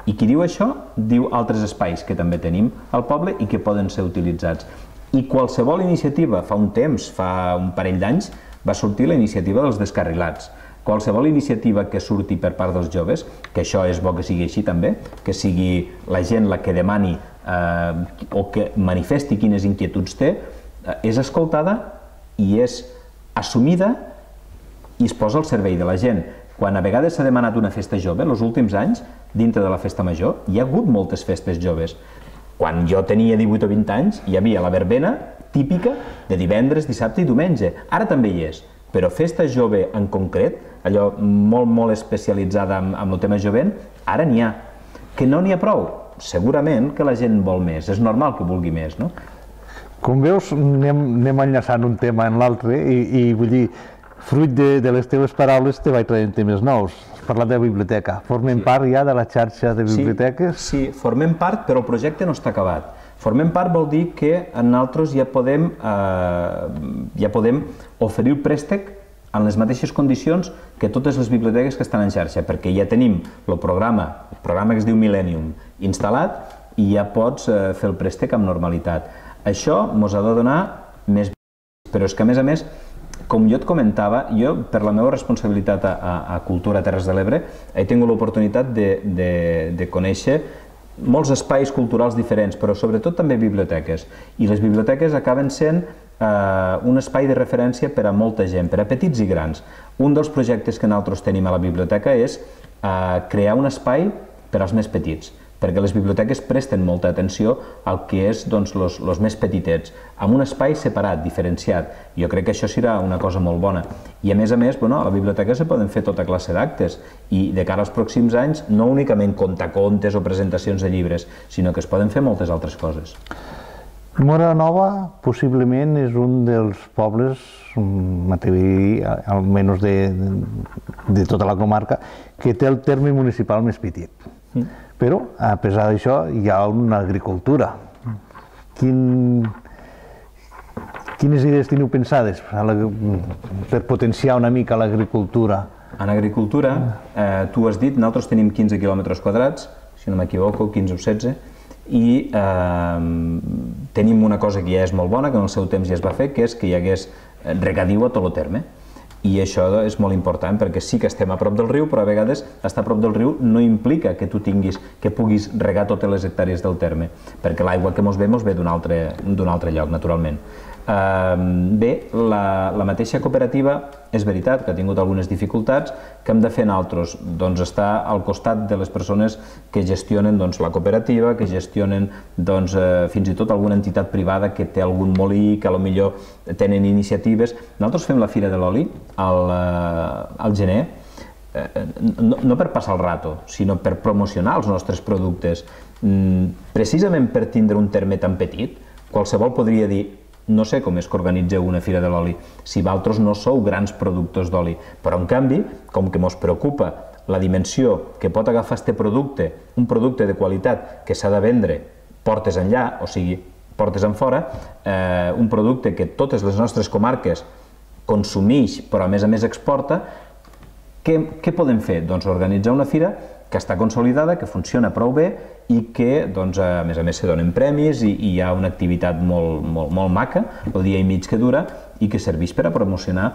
I qui diu això, diu altres espais que també tenim al poble i que poden ser utilitzats. I qualsevol iniciativa, fa un temps, fa un parell d'anys, va sortir la iniciativa dels descarrilats. Qualsevol iniciativa que surti per part dels joves, que això és bo que sigui així també, que sigui la gent la que demani o que manifesti quines inquietuds té, és escoltada i és assumida i es posa al servei de la gent. Quan a vegades s'ha demanat una festa jove, els últims anys, dintre de la festa major, hi ha hagut moltes festes joves. Quan jo tenia 18 o 20 anys, hi havia la verbena típica de divendres, dissabte i diumenge. Ara també hi és, però festa jove en concret, allò molt especialitzada amb el tema jovent, ara n'hi ha. Que no n'hi ha prou? Segurament que la gent vol més, és normal que vulgui més, no? Com veus, anem enllaçant un tema en l'altre i vull dir, fruit de les teves paraules te vaig traient temes nous. Has parlat de la biblioteca. Formem part ja de la xarxa de biblioteques? Sí, formem part, però el projecte no està acabat. Formem part vol dir que nosaltres ja podem oferir el préstec en les mateixes condicions que totes les biblioteques que estan en xarxa, perquè ja tenim el programa que es diu Millennium, instal·lat i ja pots fer el préstec amb normalitat. Això ens ha de donar més... Però és que, a més, com jo et comentava, jo, per la meva responsabilitat a Cultura Terres de l'Ebre, he tingut l'oportunitat de conèixer molts espais culturals diferents, però sobretot també biblioteques. I les biblioteques acaben sent un espai de referència per a molta gent, per a petits i grans. Un dels projectes que nosaltres tenim a la biblioteca és crear un espai per als més petits, perquè les biblioteques presten molta atenció al que és els més petitets, amb un espai separat, diferenciat. Jo crec que això serà una cosa molt bona. I a més, a la biblioteca se poden fer tota classe d'actes i de cara als pròxims anys no únicament contacontes o presentacions de llibres, sinó que es poden fer moltes altres coses. Móra la Nova possiblement és un dels pobles, m'atreviria a dir, almenys de tota la comarca, que té el terme municipal més petit. Però, a pesar d'això, hi ha una agricultura. Quines idees teniu pensades per potenciar una mica l'agricultura? En agricultura, tu has dit, nosaltres tenim 15 quilòmetres quadrats, si no m'equivoco, 15 o 16, i tenim una cosa que ja és molt bona, que en el seu temps ja es va fer, que és que hi hagués regadiu a tot el terme. I això és molt important perquè sí que estem a prop del riu, però a vegades estar a prop del riu no implica que tu puguis regar totes les hectàrees del terme, perquè l'aigua que ens ve d'un altre lloc, naturalment. Bé, la mateixa cooperativa és veritat que ha tingut algunes dificultats que hem de fer nosaltres, doncs estar al costat de les persones que gestionen la cooperativa, que gestionen fins i tot alguna entitat privada que té algun molí, que potser tenen iniciatives. Nosaltres fem la Fira de l'Oli al gener no per passar el rato, sinó per promocionar els nostres productes. Precisament per tindre un terme tan petit, qualsevol podria dir: no sé com és que organitzeu una fira de l'oli, si vosaltres no sou grans productors d'oli. Però, en canvi, com que ens preocupa la dimensió que pot agafar aquest producte, un producte de qualitat que s'ha de vendre portes enllà, o sigui, portes enfora, un producte que totes les nostres comarques consumeix, però a més exporta, què podem fer? Doncs organitzar una fira que està consolidada, que funciona prou bé i que, a més se donen premis i hi ha una activitat molt maca, el dia i mig que dura, i que serveix per a promocionar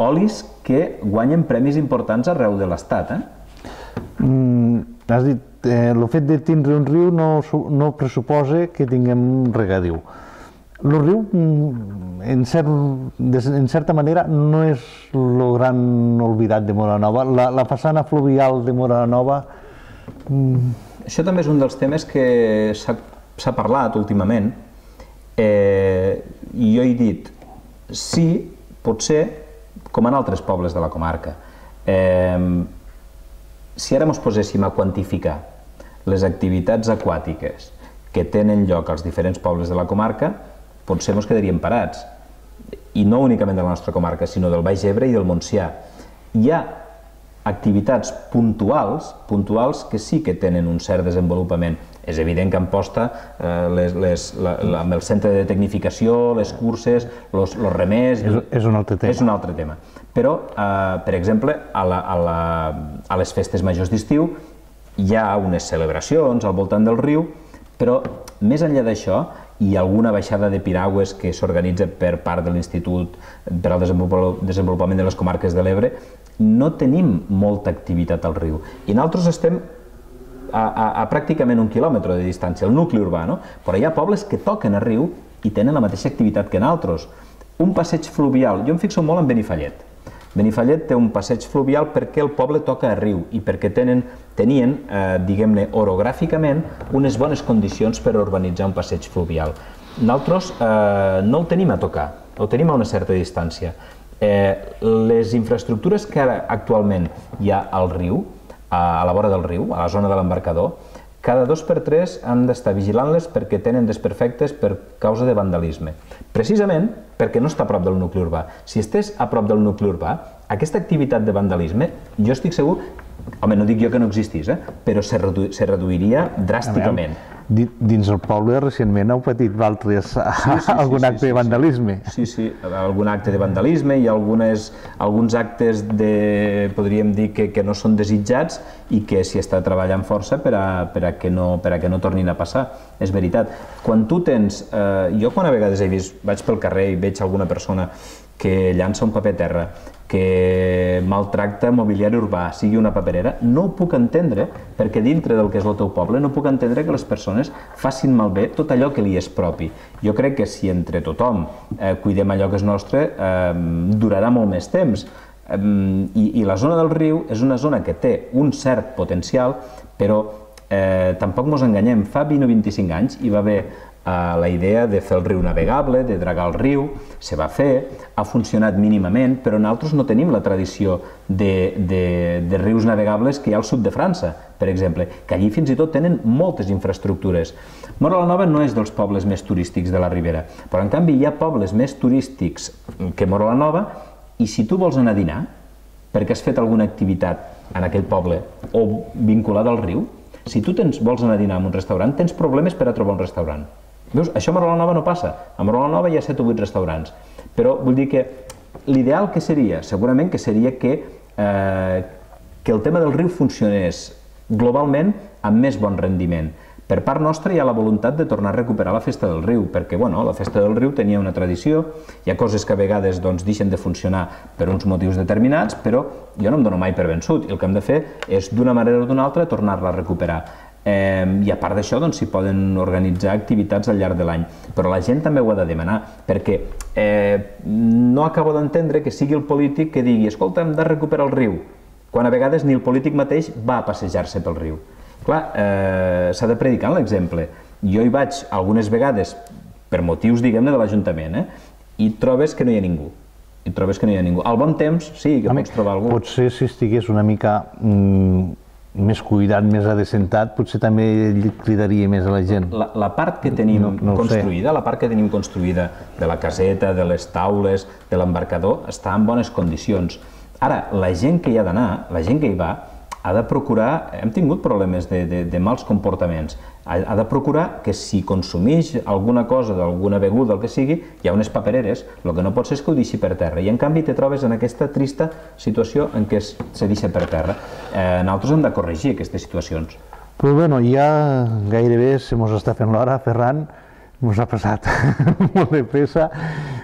olis que guanyen premis importants arreu de l'Estat. Has dit, el fet de tindre un riu no pressuposa que tinguem regadiu. El riu, en certa manera, no és el gran oblidat de Móra la Nova. La façana fluvial de Móra la Nova... Això també és un dels temes que s'ha parlat últimament, i jo he dit, sí, potser, com en altres pobles de la comarca. Si ara ens poséssim a quantificar les activitats aquàtiques que tenen lloc als diferents pobles de la comarca, potser ens quedaríem parats. I no únicament de la nostra comarca, sinó del Baix Ebre i del Montsià. Hi ha activitats puntuals que sí que tenen un cert desenvolupament. És evident que Amposta, amb el centre de tecnificació, les curses, els remers... És un altre tema. És un altre tema. Però, per exemple, a les festes majors d'estiu hi ha unes celebracions al voltant del riu, però més enllà d'això hi ha alguna baixada de piragües que s'organitza per part de l'Institut per al Desenvolupament de les Comarques de l'Ebre. No tenim molta activitat al riu i nosaltres estem a pràcticament 1 quilòmetre de distància, el nucli urbà, però hi ha pobles que toquen a riu i tenen la mateixa activitat que nosaltres. Un passeig fluvial, jo em fixo molt en Benifallet. Benifallet té un passeig fluvial perquè el poble toca a riu i perquè tenien, diguem-ne, orogràficament, unes bones condicions per urbanitzar un passeig fluvial. Nosaltres no el tenim a tocar, el tenim a una certa distància. Les infraestructures que ara actualment hi ha al riu, a la vora del riu, a la zona de l'embarcador, cada 2 per 3 hem d'estar vigilant-les perquè tenen desperfectes per causa de vandalisme. Precisament perquè no està a prop del nucli urbà. Si estés a prop del nucli urbà, aquesta activitat de vandalisme, jo estic segur, home, no dic jo que no existís, però se reduiria dràsticament. Dins el poble recentment heu patit vosaltres algun acte de vandalisme. Sí, algun acte de vandalisme i alguns actes, podríem dir, que no són desitjats i que s'hi està treballant força per a que no tornin a passar. És veritat. Quan tu tens... Jo quan a vegades vaig pel carrer i veig alguna persona que llança un paper a terra, que maltracta mobiliari urbà, sigui una paperera, no ho puc entendre, perquè dintre del que és el teu poble no puc entendre que les persones facin malbé tot allò que li és propi. Jo crec que si entre tothom cuidem allò que és nostre, durarà molt més temps. I la zona del riu és una zona que té un cert potencial, però tampoc ens enganyem. Fa 20 o 25 anys hi va haver la idea de fer el riu navegable, de dragar el riu, se va fer, ha funcionat mínimament, però nosaltres no tenim la tradició de rius navegables que hi ha al sud de França, per exemple, que allí fins i tot tenen moltes infraestructures. Móra la Nova no és dels pobles més turístics de la Ribera, però en canvi hi ha pobles més turístics que Móra la Nova, i si tu vols anar a dinar, perquè has fet alguna activitat en aquell poble o vinculada al riu, si tu vols anar a dinar en un restaurant, tens problemes per a trobar un restaurant. Veus, això a Móra la Nova no passa. A Móra la Nova hi ha 7 o 8 restaurants. Però vull dir que l'ideal que seria, segurament que seria que el tema del riu funcionés globalment amb més bon rendiment. Per part nostra hi ha la voluntat de tornar a recuperar la Festa del Riu, perquè la Festa del Riu tenia una tradició, hi ha coses que a vegades deixen de funcionar per uns motius determinats, però jo no em dono mai per vençut, i el que hem de fer és, d'una manera o d'una altra, tornar-la a recuperar. I a part d'això s'hi poden organitzar activitats al llarg de l'any, però la gent també ho ha de demanar, perquè no acabo d'entendre que sigui el polític que digui escolta, hem de recuperar el riu, quan a vegades ni el polític mateix va a passejar-se pel riu. Clar, s'ha de predicar l'exemple. Jo hi vaig algunes vegades per motius, diguem-ne, de l'Ajuntament, i trobes que no hi ha ningú. i trobes que no hi ha ningú. Al bon temps sí que pots trobar algú. Potser si estigués una mica més cuidat, més adecentat, potser també cridaria més a la gent. La part que tenim construïda, la part que tenim construïda de la caseta, de les taules, de l'embarcador, està en bones condicions. Ara, la gent que hi ha d'anar, la gent que hi va, ha de procurar, hem tingut problemes de mals comportaments, ha de procurar que si consumeix alguna cosa, d'alguna beguda, el que sigui, hi ha unes papereres, el que no pot ser és que ho deixi per terra, i en canvi te trobes en aquesta trista situació en què se deixa per terra. Nosaltres hem de corregir aquestes situacions. Però bueno, ja gairebé se mos està fent l'hora, Ferran, mos ha passat molt de pressa.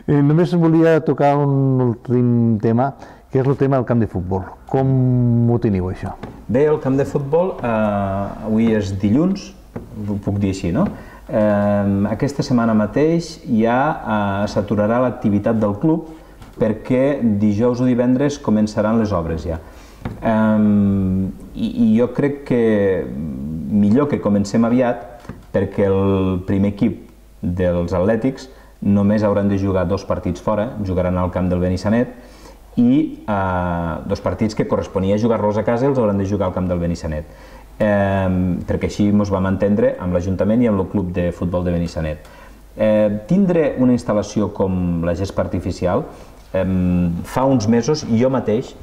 Només volia tocar un últim tema, que és el tema del camp de futbol. Com ho teniu, això? Bé, el camp de futbol, avui és dilluns, ho puc dir així, no? Aquesta setmana mateix ja s'aturarà l'activitat del club perquè dijous o divendres començaran les obres ja. I jo crec que millor que comencem aviat perquè el primer equip dels atlètics només hauran de jugar 2 partits fora, jugaran al camp del Benissanet, i 2 partits que corresponia jugar-los a casa els hauran de jugar al camp del Benissanet, perquè així ens vam entendre amb l'Ajuntament i amb el club de futbol de Benissanet. Tindre una instal·lació com la gespa artificial, fa uns mesos jo mateix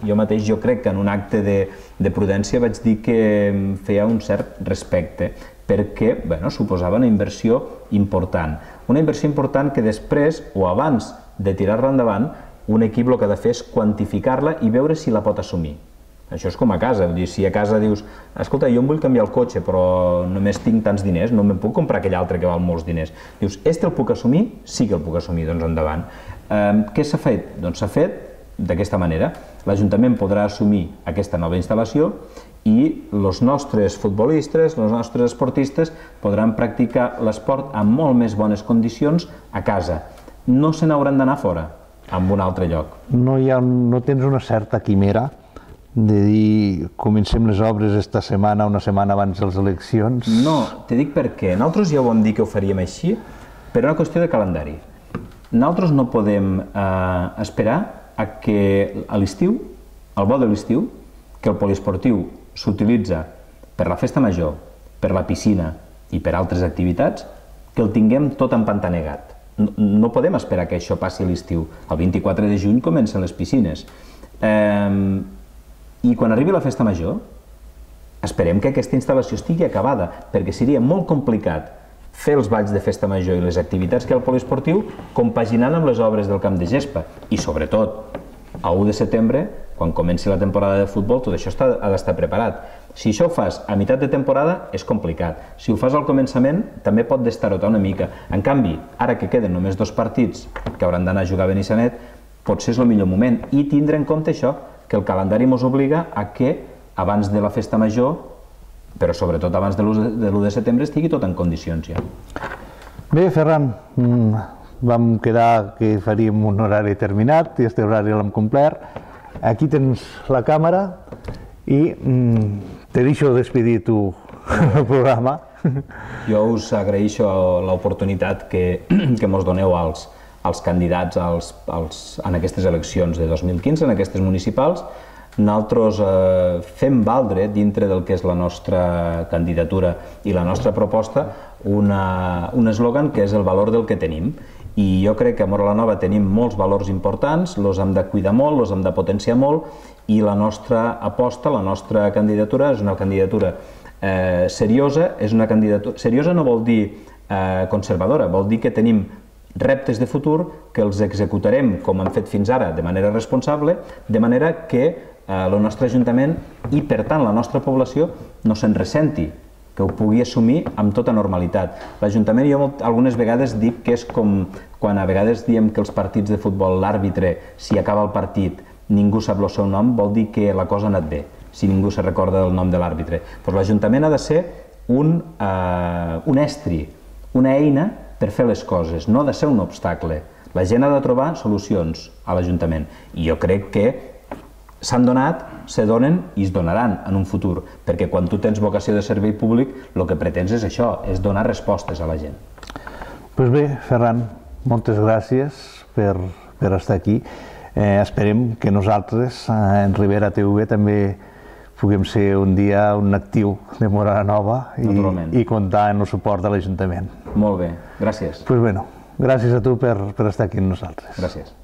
jo crec que en un acte de prudència vaig dir que em feia un cert respecte, perquè suposava una inversió important que després o abans de tirar-la endavant un equip el que ha de fer és quantificar-la i veure si la pot assumir. Això és com a casa, si a casa dius escolta, jo em vull canviar el cotxe però només tinc tants diners, no me'n puc comprar aquell altre que val molts diners. Dius, el puc assumir? Sí que el puc assumir, doncs endavant. Què s'ha fet? Doncs s'ha fet d'aquesta manera. L'Ajuntament podrà assumir aquesta nova instal·lació i els nostres futbolistes, els nostres esportistes podran practicar l'esport en molt més bones condicions a casa. No se n'hauran d'anar fora, en un altre lloc. No tens una certa quimera de dir comencem les obres esta setmana, una setmana abans de les eleccions? No, te dic perquè nosaltres ja ho vam dir que ho faríem així per una qüestió de calendari. Nosaltres no podem esperar a que a l'estiu, al bo de l'estiu, que el poliesportiu s'utilitza per la festa major, per la piscina i per altres activitats, que el tinguem tot empantanegat. No podem esperar que això passi a l'estiu. El 24 de juny comencen les piscines. I quan arribi la festa major, esperem que aquesta instal·lació estigui acabada, perquè seria molt complicat fer els balls de festa major i les activitats que hi ha al poliesportiu compaginant amb les obres del camp de gespa. I sobretot, a 1 de setembre, quan comenci la temporada de futbol, tot això ha d'estar preparat. Si això ho fas a meitat de temporada, és complicat. Si ho fas al començament, també pot destarotar una mica. En canvi, ara que queden només 2 partits que hauran d'anar a jugar a Benissanet, potser és el millor moment. I tindre en compte això, que el calendari ens obliga a que abans de la festa major, però sobretot abans de l'1 de setembre, estigui tot en condicions ja. Bé, Ferran, vam quedar que faríem un horari terminat i aquest horari l'hem complert. Aquí tens la càmera i te deixo despedir tu el programa. Jo us agraeixo l'oportunitat que mos doneu als candidats en aquestes eleccions de 2015, en aquestes municipals. Nosaltres fem valdre, dintre del que és la nostra candidatura i la nostra proposta, un eslògan que és el valor del que tenim. I jo crec que a Móra la Nova tenim molts valors importants, els hem de cuidar molt, els hem de potenciar molt, i la nostra aposta, la nostra candidatura és una candidatura seriosa. Seriosa no vol dir conservadora, vol dir que tenim reptes de futur que els executarem com hem fet fins ara de manera responsable, de manera que el nostre Ajuntament i per tant la nostra població no se'n ressenti, que ho pugui assumir amb tota normalitat. L'Ajuntament, jo algunes vegades dic que és com quan a vegades diem que els partits de futbol, l'àrbitre, si acaba el partit, ningú sap el seu nom, vol dir que la cosa ha anat bé, si ningú se recorda del nom de l'àrbitre. L'Ajuntament ha de ser un estri, una eina per fer les coses, no ha de ser un obstacle. La gent ha de trobar solucions a l'Ajuntament i jo crec que s'han donat, se donen i es donaran en un futur, perquè quan tu tens vocació de servei públic el que pretens és això, és donar respostes a la gent. Doncs bé, Ferran, moltes gràcies per estar aquí. esperem que nosaltres, en Ribera TV, també puguem ser un dia un actiu de Móra la Nova i comptar en el suport de l'Ajuntament. Molt bé, gràcies. Doncs bé, gràcies a tu per estar aquí amb nosaltres. Gràcies.